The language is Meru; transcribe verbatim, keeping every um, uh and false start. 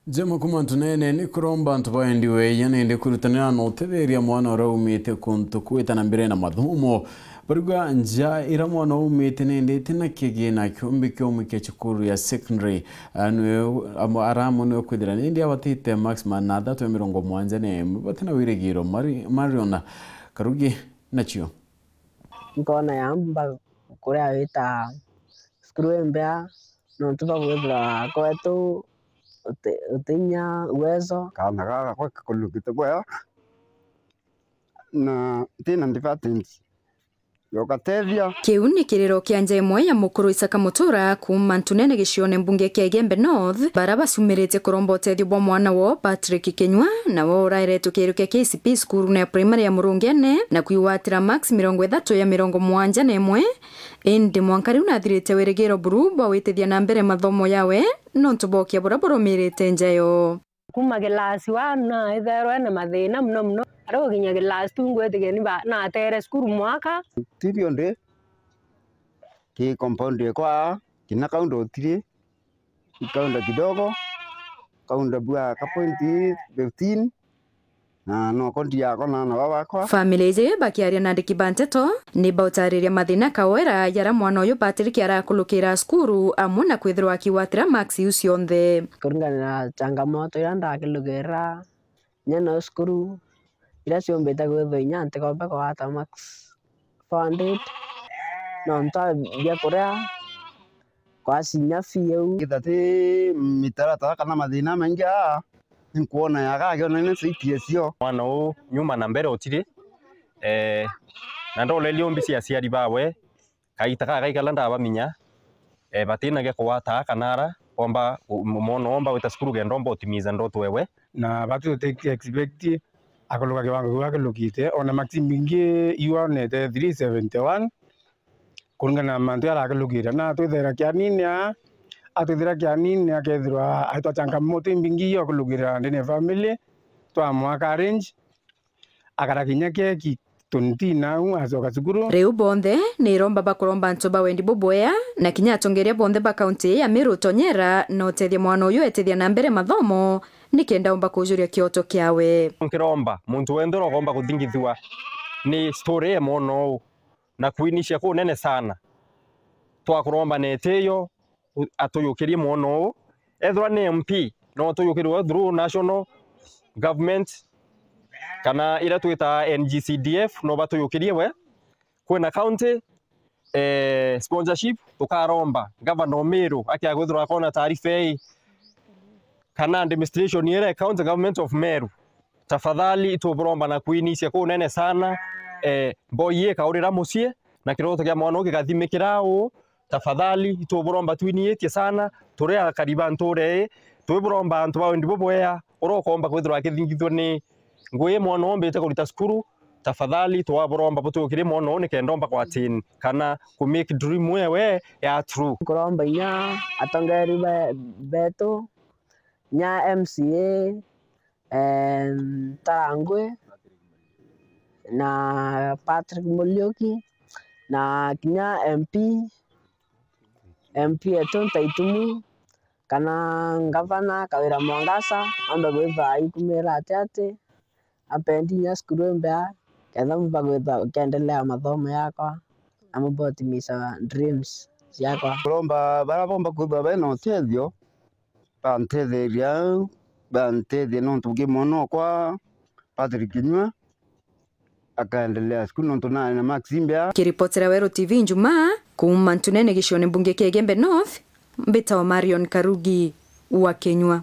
Njema kuma ntunene ni kuromba antu baendi weya nende kwirutanira na utetheria mwana uria umite kuntu kwita na mbere na mathomo. Bariuga nja ira mwana umite nende itina kigina kiumbi kiumwe kia cukuru ya secondary. Ah, niwe, amo-, ara amwe niwe kwithira nindi abatite max manatha twe mirongo mwanja na imwe batina wirigiro. Mari-, Marion Karugi nacio. Nkona yamba kuria wita cukuru imbea, nontu bwa kwithirwa kwetu uti-, utinya uwezo. Kaana gaka gwe kakulukite bwega, na ntina department yokatethia. Kiu ni kiriro kia nja imwe ya mukuru Isaka Mutura kuuma Ntunene gicione mbunge kia Igembe North, bara bacumirite kuromba utethio bwa mwana woo Patrick Kinyua, nawe urairetwe kiriro kia K C P cukuru ya primary ya Murungene, na kwigwatira max mirongo ithatu ya mirongo mwanja na imwe. Indi mwanka riu nathirite wirigiro buru bwa gwitithia na mbere mathomo yawe, nontu bwa ukia buria burumirite nja yoo. Kuma class one na itherwe na mathina muno muno. Ari gukinya class two ngwitikia ni ba-, natere cukuru mwaka. Ti bionthe, ki compound ekwa, kina kaunda utiri, kaunda kidogo, kaunda bua ka point fifteen, na noko ndiakona na baba akwa. Family iji bakiaria na andiki ba nteto, ni bautariria mathina kawera jara mwana uyu Patrick arakulukira cukuru, amwe na kwithirwa akigwatira max iu cionthe. Kuringana na changamoto iria ndakilukira, inya no cukuru, iria ciumbite kwithirwa inya ntikomba kugwata max four hundred, nontu bia kuria, kwasi inya fee iu. Kethira ti mitaratara kana mathina maingi aa, nkwona yaga akiona ni C P S cio. Mwana uu nyuma na mbere utiri, eh, na ndorerie umbi cia aciari bawe, kaita kaka kaikala ndabaminya, eh, batina gia kugwata kana ara, omba, mwana omba gwita cukuru kenda omba utimiza ndoto ewe. Na batu tuti expect akuluka kiwango kiu akilukite, ona max mbingi iu onete three seventy one, kuringana na mantu jaria arakilukira. Na atwithira kianini aa, atwithira kianini akethirwa aitwa changamoto imbingi iu akilukira ndene ya family, twamwaka arrange, akara kinya keki twenty nau acoka cukuru. Riu bonthe ni iromba bakuromba antu ba wendi bubwea, na kinya atongeria bonthe ba kaunti ya Meru utonyera na utethia mwana uyu etithia na mbere mathomo, nikenda umba kujuria kioto kiawe. Nkiromba muntu wenthe urokomba kuthingithua ni story ya mwana uu na kwinicia kunene sana. Twakuromba na itiyo, u-, atuyukirie mwana uu. Ethirwa ni M P, no tuyukirwe through national government, kana iria twitaga N G C D F, no batuyukirie we. Kwina county, eh, sponsorship, tukaromba gavana o Meru akia kwithirwa akona taarifa ii, kana administration iria county government of Meru. Tafadhali, ituburomba na kwinicia kunene sana, eh, mboi ikaurira mucii, na kiroto kia mwana uu gikathimikira uu. Tafadhali, ituburomba twiniitie sana, turi akari ba ntuura ii, twiburomba antu ba wendi bubwea, uria ukomba kwithirwa akithingithua ni ngui mwana uu mbite kurita cukuru, tafadhali, twaburomba butukirie mwana uu nikenda omba kwatini, kana ku make dream ewe ya true. Kuromba inya atongeri be-, betu, inya M C A, eh, Ntarangwi, na Patrick Muriuki, na kinya M P, M P etu Ntaitumu, kana ngavana Kawira Mwangaza, ambe kwithirwa aikumira ati ati, ampendi inya cukuru imbea, ketha mumba kwithirwa nkiendelea mathomo yakwa, na mumba utimisha dreams ciakwa. Kuromba baria bomba kwithirwa bena utethio, bantetheria, bantethie nontu ki mwana okwa Patrick Kinyua akaendelea cukuru nontu nari na max imbea. Kiripotera Weru T V Njumaa, kuuma Ntunene gicione mbunge kia Igembe North, mbitagwa Marion Karugi wa Kinyua.